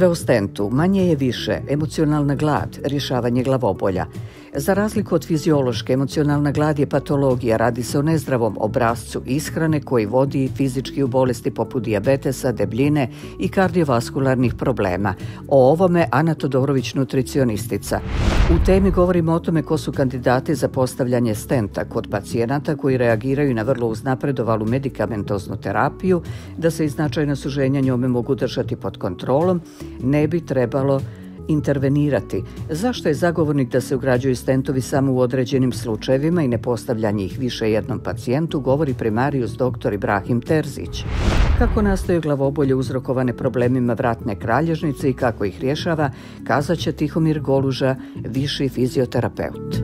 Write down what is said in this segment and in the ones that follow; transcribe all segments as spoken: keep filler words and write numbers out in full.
Sve u stentu, manje je više, emocionalna glad, rješavanje glavobolja. Za razliku od fiziološke, emocionalna glad je patologija, radi se o nezdravom obrascu ishrane koji vodi fizički u bolesti poput dijabetesa, debljine i kardiovaskularnih problema. O ovome Ana Todorović, nutricionistica. U temi govorimo o tome ko su kandidati za postavljanje stenta kod pacijenata koji reagiraju na vrlo uznapredovalu medikamentoznu terapiju, da se i značajna suženja njome mogu držati pod kontrolom, ne bi trebalo intervenirati. Zašto je zagovornik da se ugrađuju stentovi samo u određenim slučajevima i ne postavljanje ih više jednom pacijentu, govori primarijus doktor Ibrahim Terzić. Kako nastaju glavobolje uzrokovane problemima vratne kralježnice i kako ih rješava, kazat će Tihomir Goluža, viši fizioterapeut.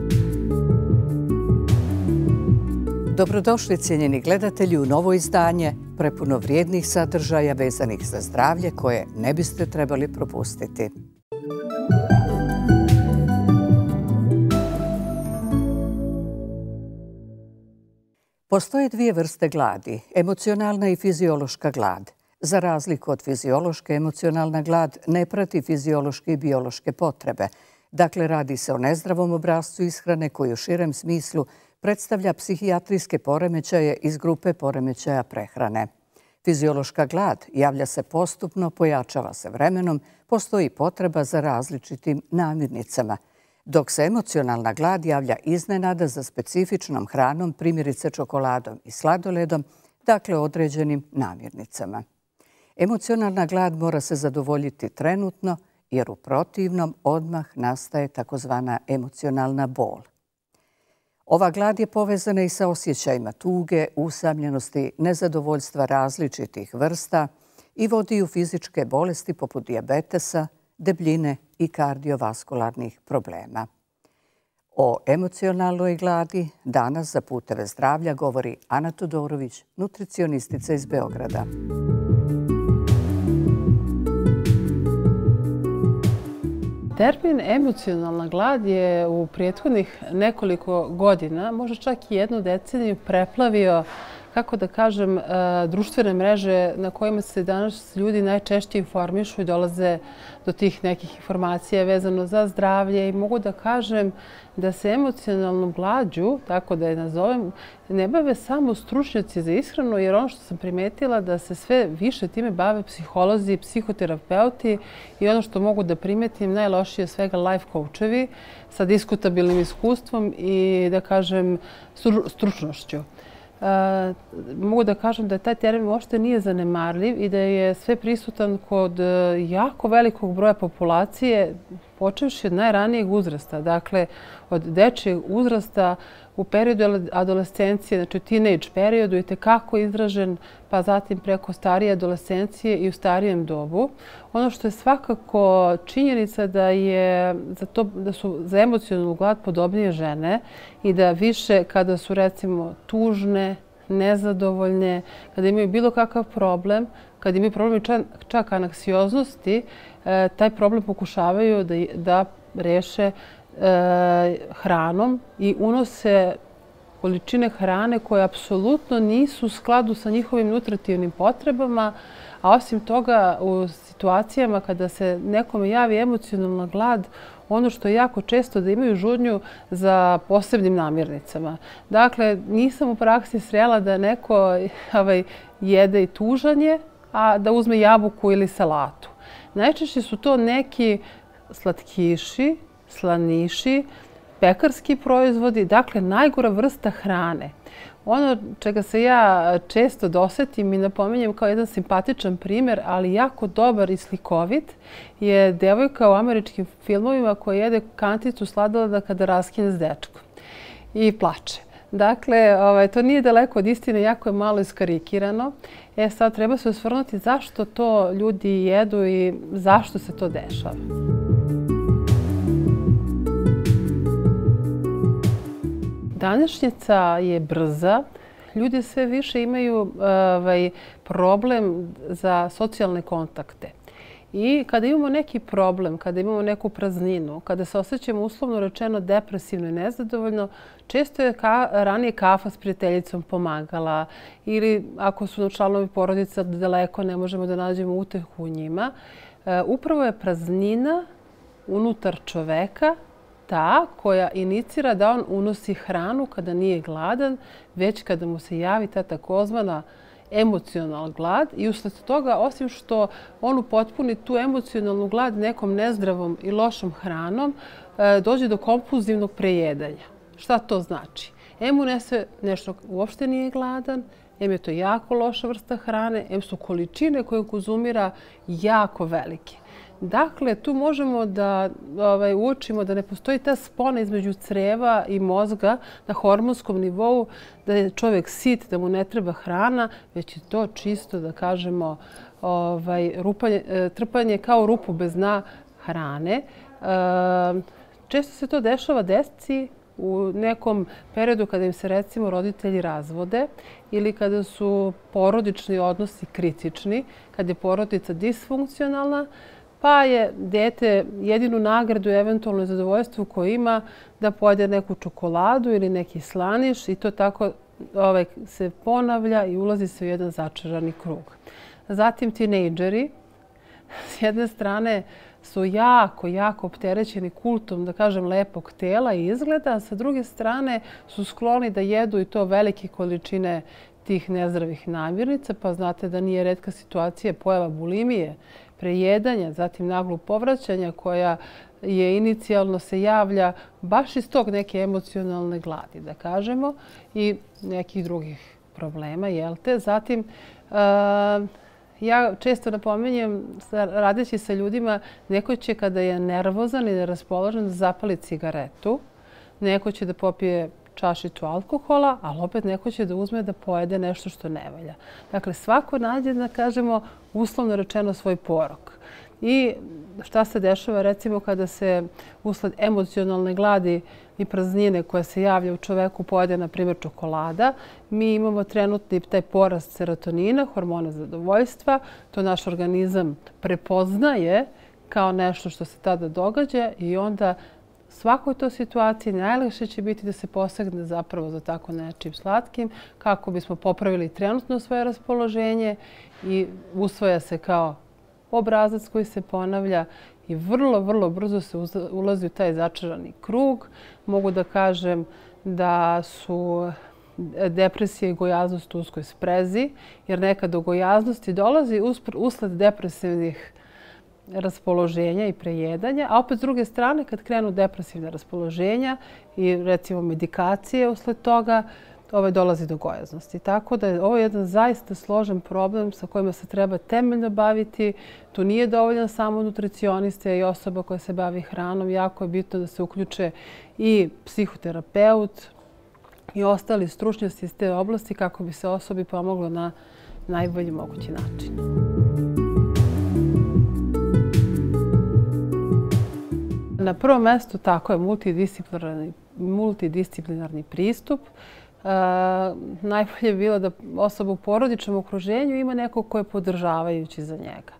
Dobrodošli cijenjeni gledatelji u novo izdanje prepuno vrijednih sadržaja vezanih za zdravlje koje ne biste trebali propustiti. Postoje dvije vrste gladi, emocionalna i fiziološka glad. Za razliku od fiziološke, emocionalna glad ne prati fiziološke i biološke potrebe. Dakle, radi se o nezdravom obrascu ishrane koji u širem smislu predstavlja psihijatrijske poremećaje iz grupe poremećaja prehrane. Fiziološka glad javlja se postupno, pojačava se vremenom, postoji potreba za različitim namirnicama, dok se emocionalna glad javlja iznenada za specifičnom hranom, primjerice čokoladom i sladoledom, dakle određenim namirnicama. Emocionalna glad mora se zadovoljiti trenutno, jer u protivnom odmah nastaje takozvana emocionalna bol. Ova glad je povezana i sa osjećajima tuge, usamljenosti, nezadovoljstva različitih vrsta i vodi u fizičke bolesti poput dijabetesa, debljine i kardiovaskularnih problema. O emocionalnoj gladi danas za Puteve zdravlja govori Ana Todorović, nutricionistica iz Beograda. Termin emocionalna glad je u prethodnih nekoliko godina, možda čak i jednu deceniju, preplavio, kako da kažem, društvene mreže na kojima se danas ljudi najčešće informišu i dolaze do tih nekih informacija vezano za zdravlje i mogu da kažem da se emocionalnom glađu, tako da je nazovem, ne bave samo stručnjaci za ishranu, jer ono što sam primetila da se sve više time bave psiholozi, psihoterapeuti i ono što mogu da primetim najlošije svega life coachevi sa diskutabilnim iskustvom i da kažem stručnošću. Mogu da kažem da taj termin uopšte nije zanemarljiv i da je sve prisutan kod jako velikog broja populacije, počevši od najranijeg uzrasta, dakle od dečijeg uzrasta u periodu adolescencije, znači u teenage periodu i tekako izražen, pa zatim preko starije adolescencije i u starijem dobu. Ono što je svakako činjenica da, je za to, da su za emocionalnu glad podobnije žene i da više kada su recimo tužne, nezadovoljne, kada imaju bilo kakav problem, kada imaju problem čak, čak anaksioznosti, taj problem pokušavaju da, da reše hranom i unose količine hrane koje apsolutno nisu u skladu sa njihovim nutritivnim potrebama, a osim toga u situacijama kada se nekome javi emocionalna glad, ono što je jako često da imaju žudnju za posebnim namirnicama. Dakle, nisam u praksi srela da neko ovaj, jede i tužanje, a da uzme jabuku ili salatu. Najčešće su to neki slatkiši, slaniši, pekarski proizvodi, dakle najgora vrsta hrane. Ono čega se ja često dosetim i napominjem kao jedan simpatičan primjer, ali jako dobar i slikovit, je devojka u američkim filmovima koja jede kanticu sladoleda kada raskine s dečkom i plače. Dakle, ovaj, to nije daleko od istine, jako je malo iskarikirano. E sad treba se osvrnuti zašto to ljudi jedu i zašto se to dešava. Današnjica je brza. Ljudi sve više imaju ovaj, problem za socijalne kontakte. I kada imamo neki problem, kada imamo neku prazninu, kada se osjećamo uslovno rečeno depresivno i nezadovoljno, često je ka, ranije kafa s prijateljicom pomagala ili ako su članovi porodica daleko ne možemo da nađemo utehu u njima. Upravo je praznina unutar čoveka ta koja inicira da on unosi hranu kada nije gladan, već kada mu se javi ta takozvana emocionalna glad i usled toga, osim što on upotpuni tu emocionalnu glad nekom nezdravom i lošom hranom, dođe do kompulzivnog prejedanja. Šta to znači? Em unese nešto uopšte nije gladan, em je to jako loša vrsta hrane, em su količine koje konzumira jako velike. Dakle, tu možemo da ovaj, uočimo da ne postoji ta spona između creva i mozga na hormonskom nivou, da je čovjek sit, da mu ne treba hrana, već je to čisto, da kažemo, ovaj, rupanje, trpanje kao rupu bez dna hrane. E, često se to dešava deci u nekom periodu kada im se recimo roditelji razvode ili kada su porodični odnosi kritični, kada je porodica disfunkcionalna, pa je dete jedinu nagradu, eventualno zadovoljstvo koje ima da pojede neku čokoladu ili neki slaniš i to tako ovaj, se ponavlja i ulazi se u jedan začarani krug. Zatim tinejdžeri s jedne strane su jako, jako opterećeni kultom, da kažem, lepog tela i izgleda, a sa druge strane su skloni da jedu i to velike količine tih nezdravih namirnica, pa znate da nije retka situacija pojava bulimije, prejedanja, zatim naglog povraćanja koja je inicijalno se javlja baš iz tog neke emocionalne gladi, da kažemo, i nekih drugih problema, jel te? Zatim, ja često napominjem, radeći sa ljudima, neko će kada je nervozan i neraspoložen da zapali cigaretu, neko će da popije čašicu alkohola, ali opet neko će da uzme da pojede nešto što ne valja. Dakle, svako nađe, da kažemo, uslovno rečeno svoj porok. I šta se dešava recimo kada se usled emocionalne gladi i praznine koja se javlja u čoveku pojede, na primjer, čokolada, mi imamo trenutni taj porast serotonina, hormona zadovoljstva. To naš organizam prepoznaje kao nešto što se tada događa i onda svakoj toj situaciji najlakše će biti da se posegne zapravo za tako nečim slatkim kako bismo popravili trenutno svoje raspoloženje i usvaja se kao obrazac koji se ponavlja i vrlo, vrlo brzo se ulazi u taj začarani krug. Mogu da kažem da su depresija i gojaznost u uskoj sprezi, jer nekad do gojaznosti dolazi usled depresivnih raspoloženja i prejedanja, a opet s druge strane kad krenu depresivne raspoloženja i recimo medikacije usled toga, ovaj, dolazi do gojaznosti. Tako da je ovo jedan zaista složen problem sa kojima se treba temeljno baviti. Tu nije dovoljan samo nutricionista i osoba koja se bavi hranom. Jako je bitno da se uključe i psihoterapeut i ostali stručnjaci iz te oblasti kako bi se osobi pomoglo na najbolji mogući način. Na prvom mjestu tako je multidisciplinarni, multidisciplinarni pristup. E, najbolje je bilo da osoba u porodičnom okruženju ima nekog ko je podržavajući za njega.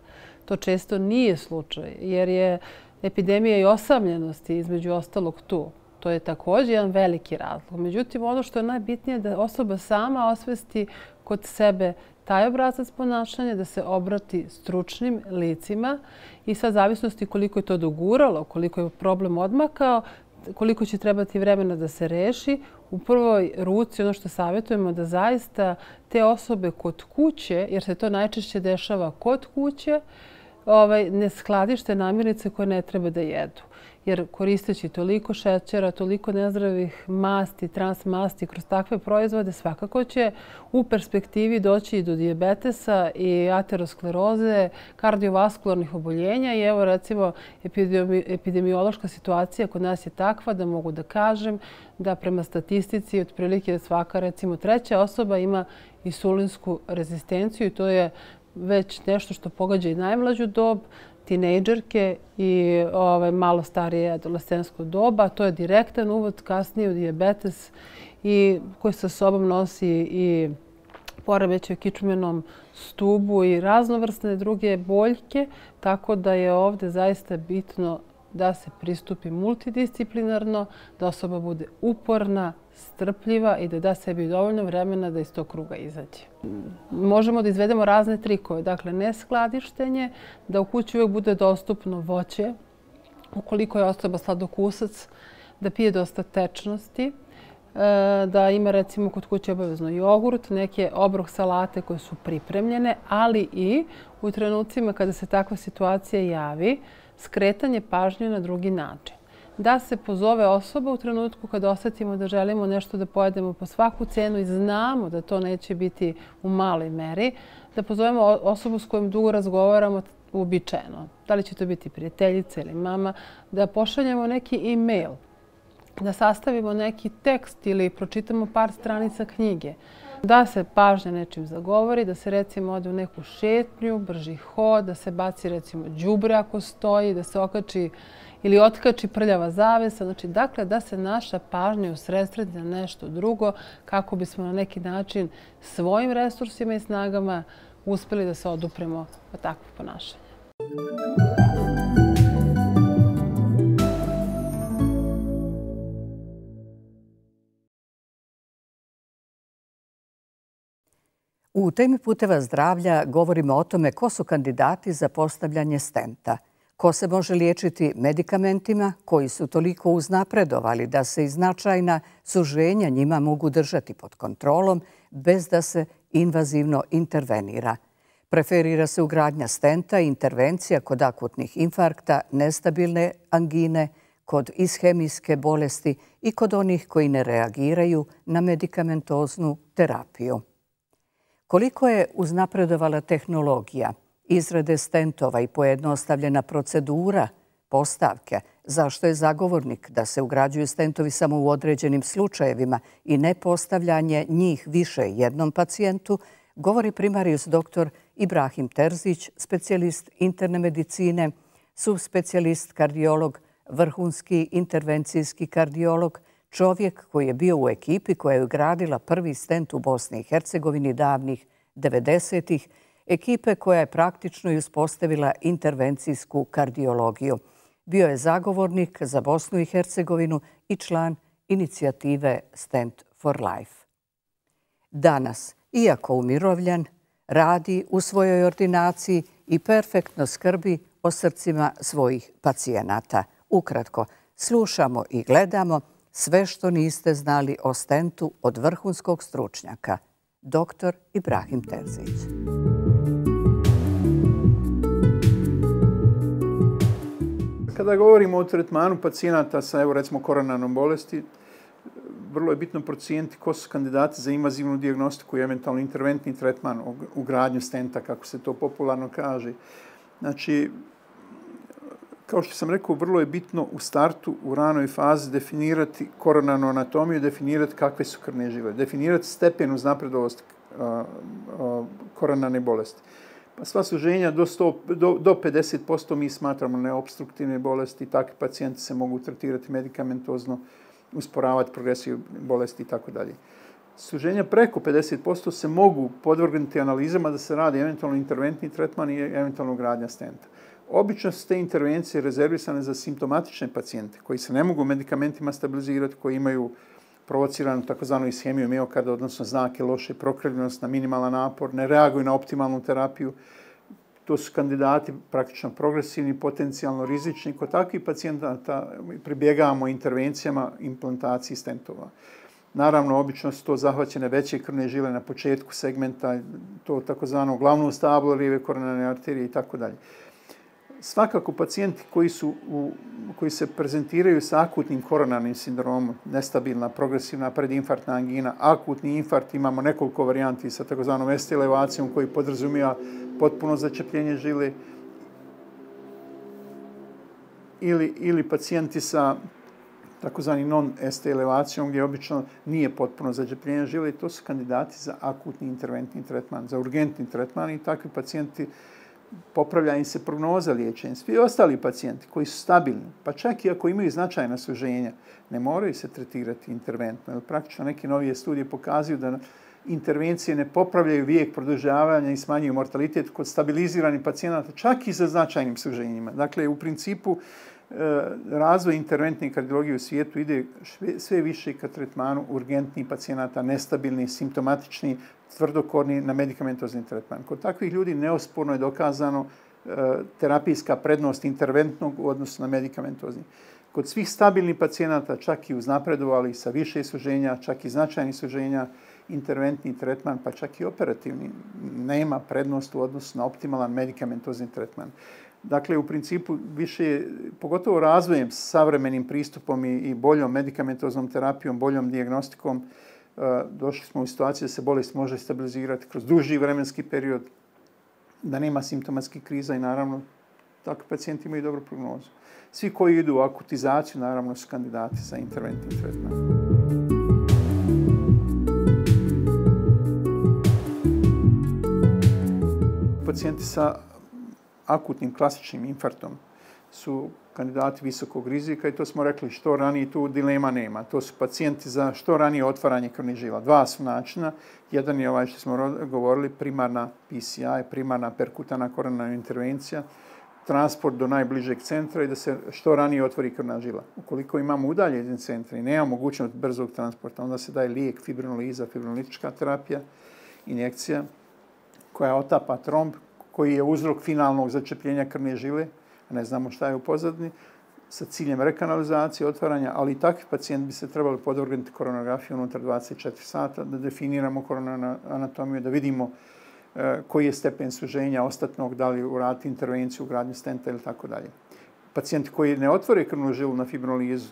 To često nije slučaj jer je epidemija i osamljenosti između ostalog tu. To je također jedan veliki razlog. Međutim, ono što je najbitnije je da osoba sama osvesti kod sebe taj obrazac ponašanja, da se obrati stručnim licima i sad zavisnosti koliko je to doguralo, koliko je problem odmakao, koliko će trebati vremena da se reši, u prvoj ruci ono što savjetujemo da zaista te osobe kod kuće, jer se to najčešće dešava kod kuće, ovaj, ne skladište namirnice koje ne treba da jedu. Jer koristeći toliko šećera, toliko nezdravih masti, transmasti kroz takve proizvode, svakako će u perspektivi doći i do dijabetesa i ateroskleroze, kardiovaskularnih oboljenja. I evo recimo epidemiološka situacija kod nas je takva da mogu da kažem da prema statistici otprilike svaka recimo treća osoba ima insulinsku rezistenciju i to je već nešto što pogađa i najmlađu dob, tinejdžerke i ovaj, malo starije adolescensko doba. To je direktan uvod kasnije u dijabetes i koji sa sobom nosi i poremećaj u kičmenom stubu i raznovrsne druge boljke. Tako da je ovdje zaista bitno da se pristupi multidisciplinarno, da osoba bude uporna, strpljiva i da da sebi dovoljno vremena da iz tog kruga izađe. Možemo da izvedemo razne trikove, dakle ne skladištenje, da u kući uvijek bude dostupno voće, ukoliko je osoba sladokusac, da pije dosta tečnosti, da ima recimo kod kuće obavezno jogurt, neke obrok salate koje su pripremljene, ali i u trenucima kada se takva situacija javi, skretanje pažnje na drugi način. Da se pozove osoba u trenutku kada osjetimo da želimo nešto da pojedemo po svaku cenu i znamo da to neće biti u maloj meri, da pozovemo osobu s kojom dugo razgovaramo uobičajeno. Da li će to biti prijateljica ili mama, da pošaljemo neki e-mail, da sastavimo neki tekst ili pročitamo par stranica knjige, da se pažnja nečim zagovori, da se recimo ode u neku šetnju, brži hod, da se baci recimo đubre ako stoji, da se okači ili otkači prljava zavesa. Znači, dakle, da se naša pažnja usredsredi na nešto drugo kako bismo na neki način svojim resursima i snagama uspeli da se odupremo od takvog ponašanja. U temi Puteva zdravlja govorimo o tome ko su kandidati za postavljanje stenta, ko se može liječiti medikamentima koji su toliko uznapredovali da se i značajna suženja njima mogu držati pod kontrolom bez da se invazivno intervenira. Preferira se ugradnja stenta i intervencija kod akutnih infarkta, nestabilne angine, kod ishemijske bolesti i kod onih koji ne reagiraju na medikamentoznu terapiju. Koliko je uznapredovala tehnologija, izrade stentova i pojednostavljena procedura, postavke, zašto je zagovornik da se ugrađuju stentovi samo u određenim slučajevima i ne postavljanje njih više jednom pacijentu, govori primarijus doktor Ibrahim Terzić, specijalist interne medicine, subspecijalist kardiolog, vrhunski intervencijski kardiolog, čovjek koji je bio u ekipi koja je ugradila prvi stent u Bosni i Hercegovini davnih devedesetih, ekipe koja je praktično i uspostavila intervencijsku kardiologiju. Bio je zagovornik za Bosnu i Hercegovinu i član inicijative Stent for Life. Danas, iako umirovljen, radi u svojoj ordinaciji i perfektno skrbi o srcima svojih pacijenata. Ukratko, slušamo i gledamo sve što niste znali o stentu od vrhunskog stručnjaka, doktor Ibrahim Terzić. Kada govorimo o tretmanu pacijenata sa, evo recimo, koronarnom bolesti, vrlo je bitno procijeniti ko su kandidati za invazivnu dijagnostiku i eventualno interventni tretman, ugradnju stenta, kako se to popularno kaže. Znači, kao što sam rekao, vrlo je bitno u startu, u ranoj fazi, definirati koronarnu anatomiju, definirati kakve su krvne žile, definirati stepen uznapredovosti koronarne bolesti. Pa sva suženja do, do, do pedeset posto mi smatramo neobstruktivne bolesti, takvi pacijenti se mogu tretirati medikamentozno, usporavati progresiju bolesti i tako dalje. Suženja preko pedeset posto se mogu podvrgnuti analizama da se radi eventualno interventni tretman i eventualno ugradnja stenta. Obično su te intervencije rezervisane za simptomatične pacijente koji se ne mogu medikamentima stabilizirati, koji imaju provociranu takozvanu ishemiju miokarda, odnosno znake loše prokrvljenost na minimalan napor, ne reaguju na optimalnu terapiju. To su kandidati praktično progresivni, potencijalno rizični. Kod takvih pacijenta pribjegavamo intervencijama implantaciji stentova. Naravno, obično su to zahvaćene veće krvne žile na početku segmenta, to takozvano glavno stablo lijeve koronarne arterije i tako dalje. Svakako, pacijenti koji, su u, koji se prezentiraju sa akutnim koronarnim sindromom, nestabilna, progresivna predinfarktna angina, akutni infarkt, imamo nekoliko varijanti sa takozvanom S T elevacijom koji podrazumijeva potpuno začepljenje žile, ili, ili pacijenti sa takozvani non-S T elevacijom gdje obično nije potpuno začepljenje žile, to su kandidati za akutni interventni tretman, za urgentni tretman i takvi pacijenti popravlja im se prognoza liječenja. Svi ostali pacijenti koji su stabilni, pa čak i ako imaju značajna suženja, ne moraju se tretirati interventno. Jer praktično neke novije studije pokazuju da intervencije ne popravljaju vijek produžavanja i smanjuju mortalitet kod stabiliziranih pacijenata, čak i sa značajnim suženjima. Dakle, u principu razvoj interventne kardiologije u svijetu ide sve više ka tretmanu urgentnih pacijenata, nestabilni, simptomatični, tvrdokorni na medikamentozni tretman. Kod takvih ljudi neosporno je dokazano terapijska prednost interventnog u odnosu na medikamentozni. Kod svih stabilnih pacijenata, čak i uznapredovali sa više suženja, čak i značajnih suženja, interventni tretman, pa čak i operativni, nema prednost u odnosu na optimalan medikamentozni tretman. Dakle, u principu više, pogotovo razvojem savremenim pristupom i, i boljom medikamentoznom terapijom, boljom dijagnostikom, došli smo u situaciju da se bolest može stabilizirati kroz duži vremenski period, da nema simptomatskih kriza i naravno takvi pacijenti imaju dobru prognozu. Svi koji idu u akutizaciju naravno su kandidati za interventni tretman. Pacijenti sa akutnim klasičnim infarktom su kandidati visokog rizika i to smo rekli što ranije, tu dilema nema. To su pacijenti za što ranije otvaranje krvnih žila. Dva su načina. Jedan je ovaj što smo govorili, primarna P C I, primarna perkutana koronarna intervencija, transport do najbližeg centra i da se što ranije otvori krvna žila. Ukoliko imamo udaljeni centra i nema mogućnost brzog transporta, onda se daje lijek, fibrinoliza, fibrinolitička terapija, injekcija koja otapa tromb, koji je uzrok finalnog začepljenja krvne žile, a ne znamo šta je u pozadini, sa ciljem rekanalizacije, otvaranja, ali i takvi pacijenti bi se trebali podvrgnuti koronografiju unutar dvadeset četiri sata, da definiramo koronarnu anatomiju, da vidimo e, koji je stepen suženja ostatnog, da li uraditi intervenciju, ugradnju stenta ili tako dalje. Pacijenti koji ne otvore krvnu žilu na fibrinolizu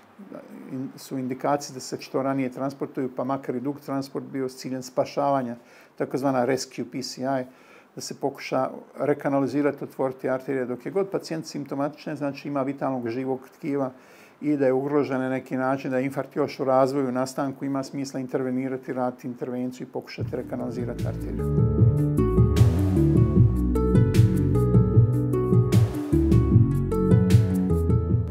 su indikacije da se što ranije transportuju, pa makar i dug transport bio s ciljem spašavanja, takozvana rescue P C I, da se pokuša rekanalizirati, otvoriti arterije. Dok je god pacijent simptomatičan, znači ima vitalnog živog tkiva i da je ugrožen na neki način, da je infarkt još u razvoju, nastanku, ima smisla intervenirati, raditi intervenciju i pokušati rekanalizirati arteriju.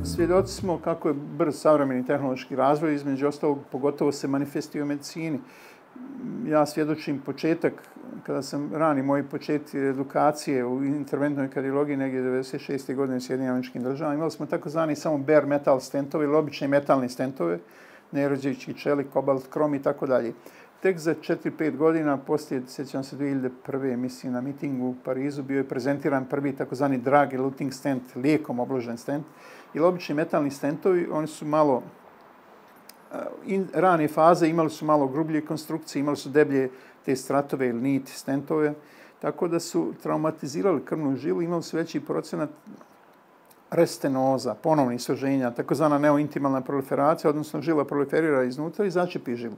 Svjedoci smo kako je brz savremeni tehnološki razvoj, između ostalog pogotovo se manifestuje u medicini. Ja svjedočim početak, kada sam rani moji početci edukacije u interventnoj kardiologiji negdje devedeset šeste godine u Sjedinjenim Američkim Državama, imali smo takozvani samo bare metal stentove ili obične metalne stentove, nerođeći čelik, kobalt, krom i tako dalje. Tek za četiri pet godina, poslije, sjećam se dvije hiljade prve. mislim na mitingu u Parizu, bio je prezentiran prvi takozvani drug eluting stent, lijekom obložen stent. Ili obični metalni stentovi, oni su malo in rane faze, imali su malo grublje konstrukcije, imali su deblje te stratove ili niti stentove, tako da su traumatizirali krvnu žilu, imali su veći procenat restenoza, ponovnih suženja, takozvana neointimalna proliferacija, odnosno žila proliferira iznutra i začepi žilu.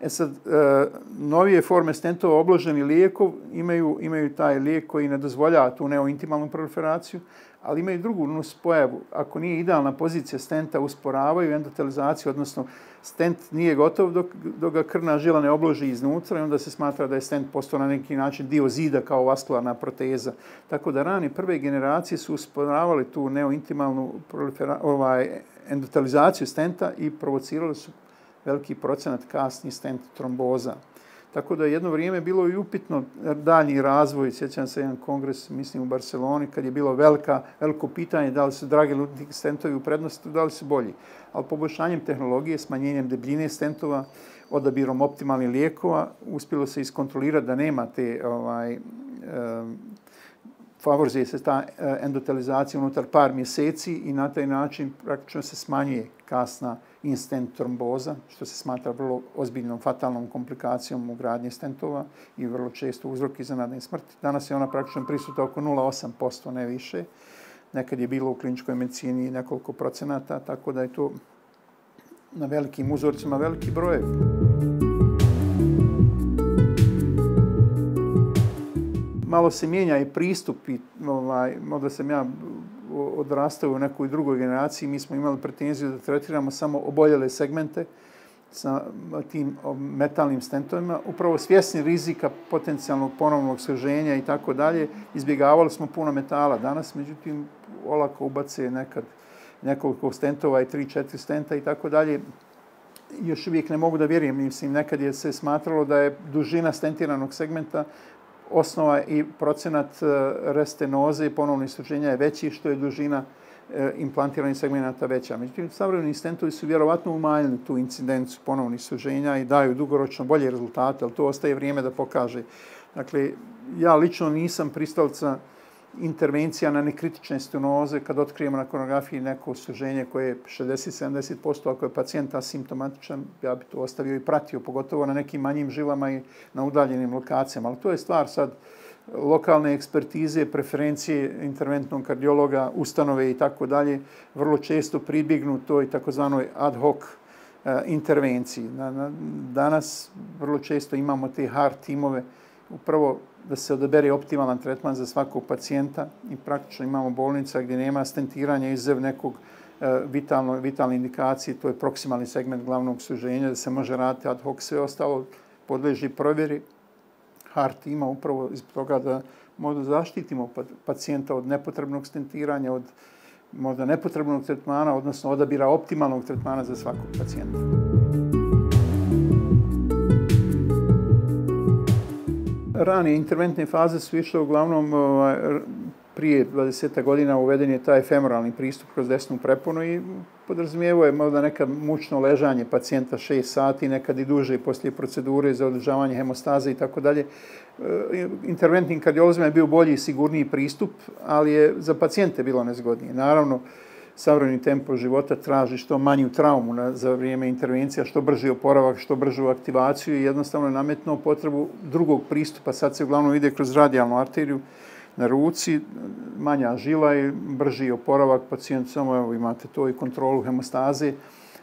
E sad, e, novije forme stentova obloženi lijekov imaju, imaju taj lijek koji ne dozvoljava tu neointimalnu proliferaciju, ali imaju drugu nuspojavu. Ako nije idealna pozicija stenta, usporavaju endotelizaciju, odnosno stent nije gotov dok, dok ga krvna žila ne obloži iznutra i onda se smatra da je stent postao na neki način dio zida kao vaskularna proteza. Tako da rani prve generacije su usporavali tu neointimalnu ovaj, endotelizaciju stenta i provocirali su veliki procenat kasni stent tromboza. Tako da jedno vrijeme bilo i upitno daljnji razvoj. Sjećam se jedan kongres, mislim u Barceloni, kad je bilo velika, veliko pitanje da li su dragi eluting stentovi u prednosti, da li su bolji. Ali poboljšanjem tehnologije, smanjenjem debljine stentova, odabirom optimalnih lijekova, uspjelo se iskontrolirati da nema te ovaj, um, favorizuje se ta endotelizacija unutar par mjeseci i na taj način praktično se smanjuje kasna in-stent tromboza, što se smatra vrlo ozbiljnom fatalnom komplikacijom u gradnji stentova i vrlo često uzrok iznenadne smrti. Danas je ona praktično prisutna oko nula zarez osam posto, ne više. Nekad je bilo u kliničkoj medicini nekoliko procenata, tako da je to na velikim uzorcima veliki broj. Malo se mijenja i pristup i ovaj, možda sam ja odrastao u nekoj drugoj generaciji, mi smo imali pretenziju da tretiramo samo oboljele segmente sa tim metalnim stentovima, upravo svjesni rizika potencijalnog ponovnog suženja i tako dalje, izbjegavali smo puno metala. Danas, međutim, olako ubace nekad nekoliko stentova i tri četiri stenta i tako dalje. Još uvijek ne mogu da vjerujem, mislim, nekad je se smatralo da je dužina stentiranog segmenta osnova i procenat restenoze i ponovnih suženja je veći što je dužina implantiranih segmenata veća. Međutim, savremeni stentovi su vjerovatno umanjili tu incidencu ponovnih suženja i daju dugoročno bolje rezultate, ali to ostaje vrijeme da pokaže. Dakle, ja lično nisam pristalica intervencija na nekritične stenoze kad otkrijemo na koronografiji neko suženje koje je šezdeset do sedamdeset posto, ako je pacijent asimptomatičan, ja bi to ostavio i pratio, pogotovo na nekim manjim žilama i na udaljenim lokacijama. Ali to je stvar sad lokalne ekspertize, preferencije interventnog kardiologa, ustanove i tako dalje, vrlo često pribjegnu toj takozvanoj ad hoc intervenciji. Danas vrlo često imamo te hard timove, upravo da se odabere optimalan tretman za svakog pacijenta i praktično imamo bolnica gdje nema stentiranja izuzev nekog vitalno, vitalne indikacije, to je proksimalni segment glavnog suženja, da se može raditi ad hoc, sve ostalo podleži provjeri hard tima upravo zbog toga da možda zaštitimo pacijenta od nepotrebnog stentiranja, od možda nepotrebnog tretmana, odnosno odabira optimalnog tretmana za svakog pacijenta. Ranije interventne faze su išle uglavnom prije dvadeset godina uveden je taj femoralni pristup kroz desnu preponu i podrazumijevo je možda nekad mučno ležanje pacijenta šest sati, nekad i duže poslije procedure za održavanje hemostaze i tako dalje. Interventnim kardiolozima je bio bolji i sigurniji pristup, ali je za pacijente bilo nezgodnije. Naravno, savremeni tempo života traži što manju traumu na, za vrijeme intervencija, što brži oporavak, što bržu aktivaciju i jednostavno je nametnuo potrebu drugog pristupa. Sad se uglavnom ide kroz radijalnu arteriju na ruci, manja žila i brži oporavak. Pacijent samo, evo imate to i kontrolu hemostaze.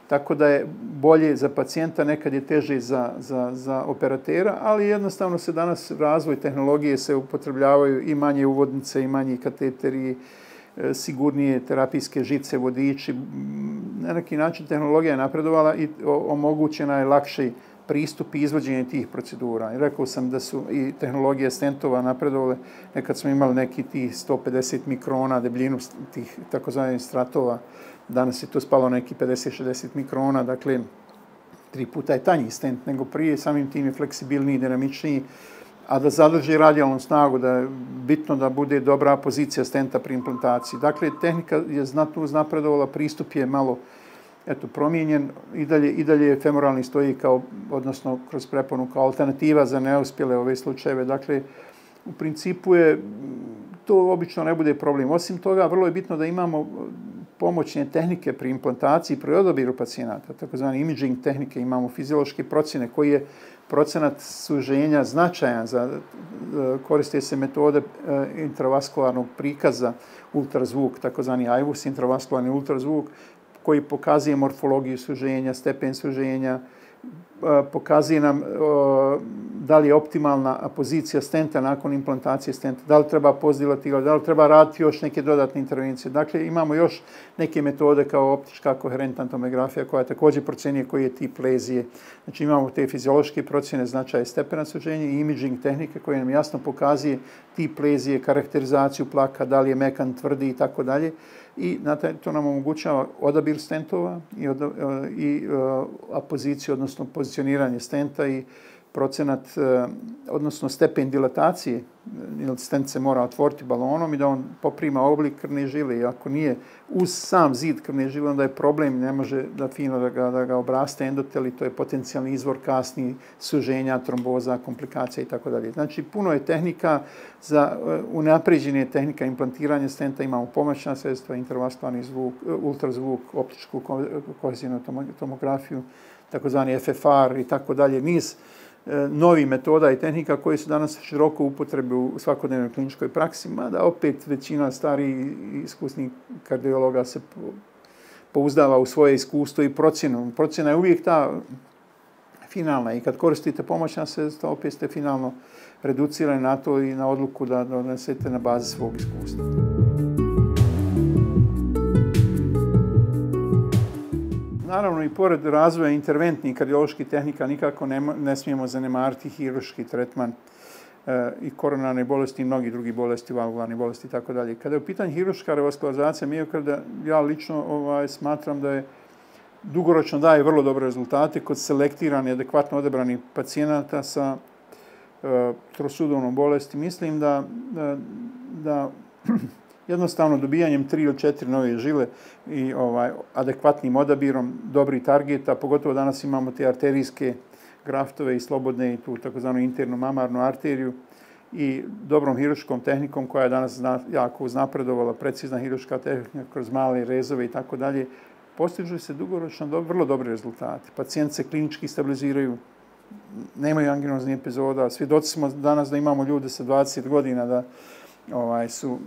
Tako da je bolje za pacijenta, nekad je teže za, za, za operatera, ali jednostavno se danas razvoj tehnologije se upotrebljavaju i manje uvodnice i manji kateteri, sigurnije terapijske žice, vodiči. Na neki način tehnologija je napredovala i omogućena je lakši pristup i izvođenje tih procedura. I rekao sam da su i tehnologije stentova napredovale. Nekad smo imali neki tih sto pedeset mikrona debljinu tih takozvanih stratova. Danas je to spalo neki pedeset do šezdeset mikrona, dakle tri puta je tanji stent nego prije, samim tim je fleksibilniji, dinamičniji, a da zadrži radijalnu snagu, da je bitno da bude dobra pozicija stenta pri implantaciji. Dakle, tehnika je znatno uznapredovala, pristup je malo eto, promijenjen, i dalje, i dalje femoralni stoji kao, odnosno kroz preponu kao alternativa za neuspjele ove slučajeve. Dakle, u principu je, to obično ne bude problem. Osim toga, vrlo je bitno da imamo pomoćne tehnike pri implantaciji, pri odabiru pacijenata, takozvane imaging tehnike, imamo fiziološke procjene koji je procenat suženja značajan za, koriste se metode intravaskularnog prikaza, ultrazvuk, takozvani I V U S, intravaskularni ultrazvuk, koji pokazuje morfologiju suženja, stepen suženja, pokazuje nam da li je optimalna pozicija stenta nakon implantacije stenta, da li treba postdilatirati, da li treba raditi još neke dodatne intervencije. Dakle, imamo još neke metode kao optička koherentna tomografija koja također procjenjuje koji je tip lezije. Znači, imamo te fiziološke procjene značaja stepena suženja i imaging tehnike koje nam jasno pokazuje tip lezije, karakterizaciju plaka, da li je mekan, tvrdi i tako dalje. I to nam omogućava odabir stentova i, od, i a poziciju, odnosno pozicioniranje stenta i procenat, odnosno stepen dilatacije, jer stent se mora otvoriti balonom i da on poprima oblik krvne žile. I ako nije uz sam zid krvne žile, onda je problem, ne može da fino da ga, da ga obraste endotel i to je potencijalni izvor kasni suženja, tromboza, komplikacija i tako dalje. Znači, puno je tehnika za unapređenje tehnika implantiranja stenta. Imamo pomoćna sredstva, intravaskularni zvuk, ultrazvuk, optičku kohezijnu tomografiju, takozvani F F R i tako dalje. Niz novi metoda i tehnika koji su danas široko upotrebi u svakodnevnoj kliničkoj praksi, mada opet većina starih i iskusnih kardiologa se pouzdava u svoje iskustvo i procjenu. Procjena je uvijek ta finalna i kad koristite pomoćna sredstva, opet ste finalno reducirani na to i na odluku da donesete na bazi svog iskustva. Naravno, i pored razvoja interventnih kardioloških tehnika nikako ne, ne smijemo zanemariti hirurški tretman e, i koronarne bolesti i mnogi drugi bolesti, valvularne bolesti i tako dalje. Kada je u pitanju hirurška revaskularizacija miokarda, ja lično ovaj, smatram da je dugoročno daje vrlo dobre rezultate kod selektirane, adekvatno odebranih pacijenata sa e, trosudovnom bolesti. Mislim da, da, da Jednostavno dobijanjem tri ili četiri nove žile i ovaj, adekvatnim odabirom dobrih targeta, pogotovo danas imamo te arterijske graftove i slobodne i tu takozvanu internu mamarnu arteriju i dobrom hiruškom tehnikom koja je danas jako uznapredovala, precizna hiruška tehnika kroz male rezove i tako dalje, postižu se dugoročno do, vrlo dobre rezultate. Pacijenti se klinički stabiliziraju, nemaju anginoznih epizoda. Svjedoci smo danas da imamo ljude sa dvadeset godina da ovaj, su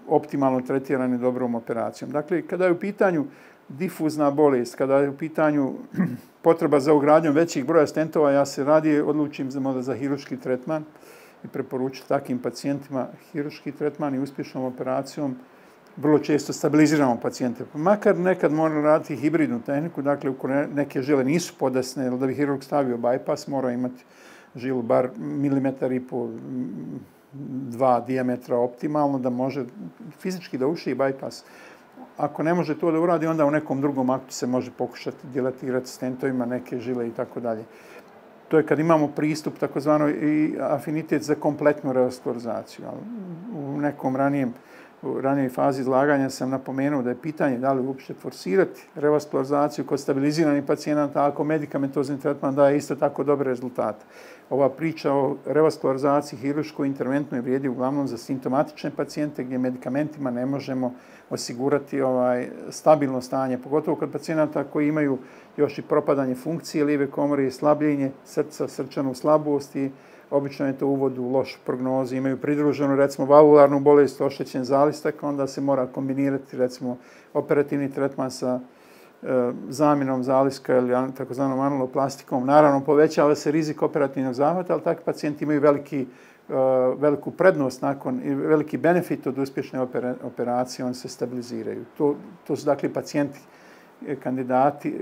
optimalno tretirani dobrom operacijom. Dakle, kada je u pitanju difuzna bolest, kada je u pitanju potreba za ugradnjom većih broja stentova, ja se radije odlučim za, za hiruški tretman i preporučujem takvim pacijentima hiruški tretman i uspješnom operacijom vrlo često stabiliziramo pacijente. Makar nekad moramo raditi hibridnu tehniku, dakle, uko neke žile nisu podesne, ili da bi hirurg stavio bypass, mora imati žilu bar milimetar i po dva dijametra optimalno, da može fizički da uši bypass. Ako ne može to da uradi, onda u nekom drugom aktu se može pokušati dilatirati stentovima neke žile i tako dalje. To je kad imamo pristup takozvano i afinitet za kompletnu revaskularizaciju. U nekom ranijem U ranijoj fazi izlaganja sam napomenuo da je pitanje da li uopšte forsirati revaskularizaciju kod stabiliziranih pacijenata ako medikamentozni tretman daje isto tako dobre rezultate. Ova priča o revaskularizaciji hiruškoj interventnoj vrijedi uglavnom za simptomatične pacijente gdje medikamentima ne možemo osigurati ovaj stabilno stanje, pogotovo kod pacijenata koji imaju još i propadanje funkcije lijeve komore i slabljenje srca, srčanu slabost i obično je to uvod u lošu prognozu, imaju pridruženu recimo valvularnu bolest, oštećen zalistak, onda se mora kombinirati recimo operativni tretman sa e, zamjenom zaliska ili takozvanom anuloplastikom. Naravno, povećava se rizik operativnog zahvata, ali takvi pacijenti imaju veliki, e, veliku prednost nakon i veliki benefit od uspješne opera, operacije, oni se stabiliziraju. To, to su dakle pacijenti kandidati e,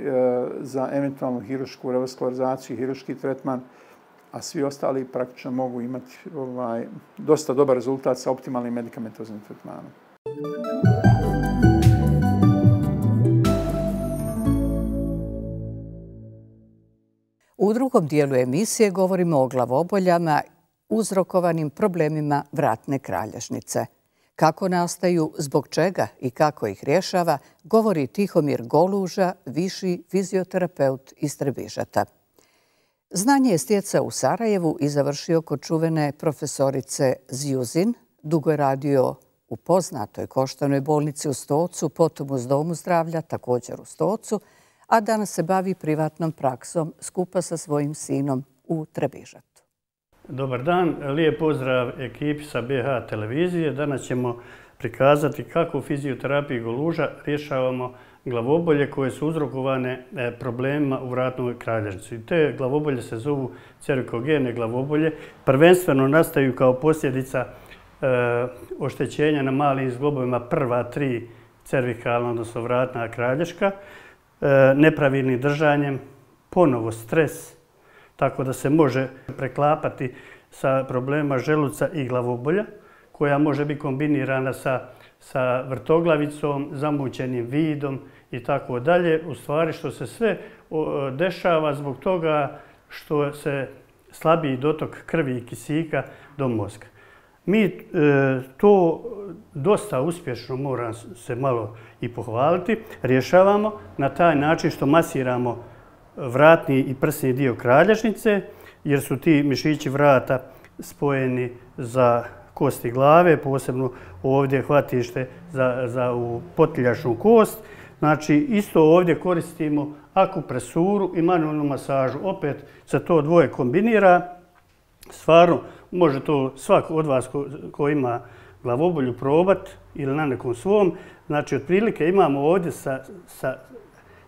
za eventualnu hirušku revaskularizaciju, hiruški tretman, a svi ostali praktično mogu imati ovaj, dosta dobar rezultat sa optimalnim medikamentoznim tretmanom. U drugom dijelu emisije govorimo o glavoboljama uzrokovanim problemima vratne kralježnice. Kako nastaju, zbog čega i kako ih rješava, govori Tihomir Goluža, viši fizioterapeut iz Trebižata. Znanje je stjecao u Sarajevu i završio kod čuvene profesorice Zjuzin. Dugo je radio u poznatoj Koštanoj bolnici u Stocu, potom uz Domu zdravlja, također u Stocu, a danas se bavi privatnom praksom skupa sa svojim sinom u Trebižatu. Dobar dan, lijep pozdrav ekipi sa B H televizije. Danas ćemo prikazati kako u fizioterapiji Goluža rješavamo glavobolje koje su uzrokovane problemima u vratnoj kralježnici. Te glavobolje se zovu cervikogene glavobolje. Prvenstveno nastaju kao posljedica e, oštećenja na malim zglobovima prva tri cervikalna, odnosno vratna kralješka, e, nepravilnim držanjem, ponovo stres, tako da se može preklapati sa problemima želuca i glavobolja, koja može biti kombinirana sa, sa vrtoglavicom, zamućenim vidom i tako dalje. U stvari što se sve dešava zbog toga što se slabiji dotok krvi i kisika do mozga. Mi e, to dosta uspješno, moram se malo i pohvaliti, rješavamo na taj način što masiramo vratni i prsni dio kralježnice, jer su ti mišići vrata spojeni za kosti glave, posebno ovdje hvatište za, za u potiljačnu kost. Znači, isto ovdje koristimo akupresuru i manualnu masažu. Opet se to dvoje kombinira. Stvarno, može to svak od vas ko, ko ima glavobolju probati ili na nekom svom. Znači, otprilike imamo ovdje sa, sa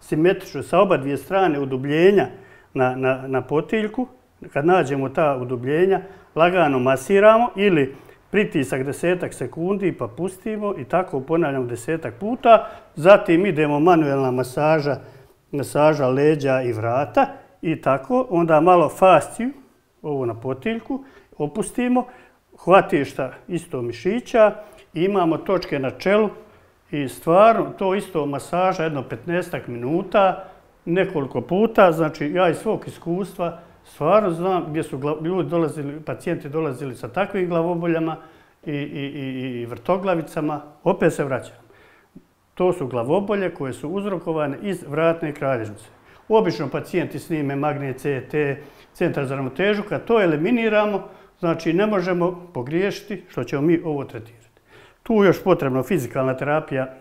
simetrično, sa oba dvije strane udubljenja na, na, na potiljku. Kad nađemo ta udubljenja, lagano masiramo ili pritisak desetak sekundi pa pustimo i tako ponavljamo desetak puta. Zatim idemo manuelna masaža, masaža leđa i vrata i tako. Onda malo fasciju, ovo na potiljku, opustimo. Hvatišta isto mišića, imamo točke na čelu i stvarno to isto masaža jedno petnaestak minuta, nekoliko puta. Znači ja iz svog iskustva stvarno znam gdje su ljudi dolazili, pacijenti dolazili sa takvim glavoboljama, i, i, i, i vrtoglavicama, opet se vraćam. To su glavobolje koje su uzrokovane iz vratne kralježnice. Obično pacijenti snime magnet C T, centar za ravnotežu, kad to eliminiramo, znači ne možemo pogriješiti što ćemo mi ovo tretirati. Tu je još potrebna fizikalna terapija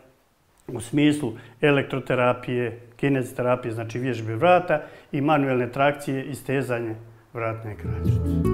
u smislu elektroterapije, kineziterapije, znači vježbe vrata i manuelne trakcije i stezanje vratne kralježnice.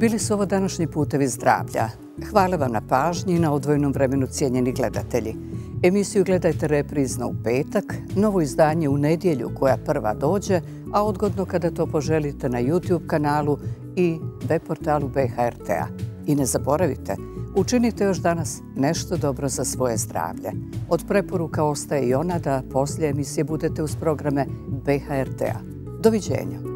Bili su ovo današnji putevi zdravlja. Hvala vam na pažnji i na odvojenom vremenu, cijenjeni gledatelji. Emisiju gledajte reprizno u petak, novo izdanje u nedjelju koja prva dođe, a odgodno kada to poželite na YouTube kanalu i web portalu B H R T-a. I ne zaboravite, učinite još danas nešto dobro za svoje zdravlje. Od preporuka ostaje i ona da poslije emisije budete uz programe B H R T-a. Doviđenja.